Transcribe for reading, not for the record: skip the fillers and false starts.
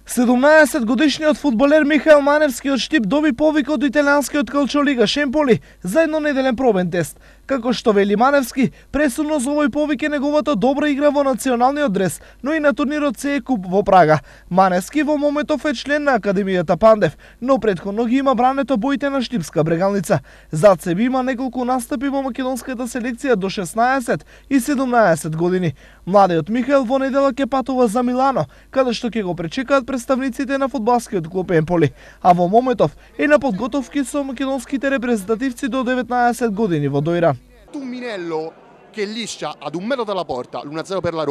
17-годишниот фудбалер Михаел Маневски од Штип доби повик од италијанскиот Калчолига Шемполи за еднонеделен пробен тест. Како што вели Маневски, пресудно за овој повик е неговата добра игра во националниот дрес, но и на турнирот СЕ Куп во Прага. Маневски во моментов е член на Академијата Пандев, но претходно ги има брането боите на Штипска Брегалница. Зад себе има неколку настапи во македонската селекција до 16 и 17 години. Младиот Михаел во недела ќе патува за Милано, каде што ќе го пречекаат представниците на фудбалскиот клуб Емполи, а во моментов е на подготовки со македонските репрезентативци до 19 години во Дојран. Minello che liscia ad 1 metro dalla porta l'1-0 per la Roma.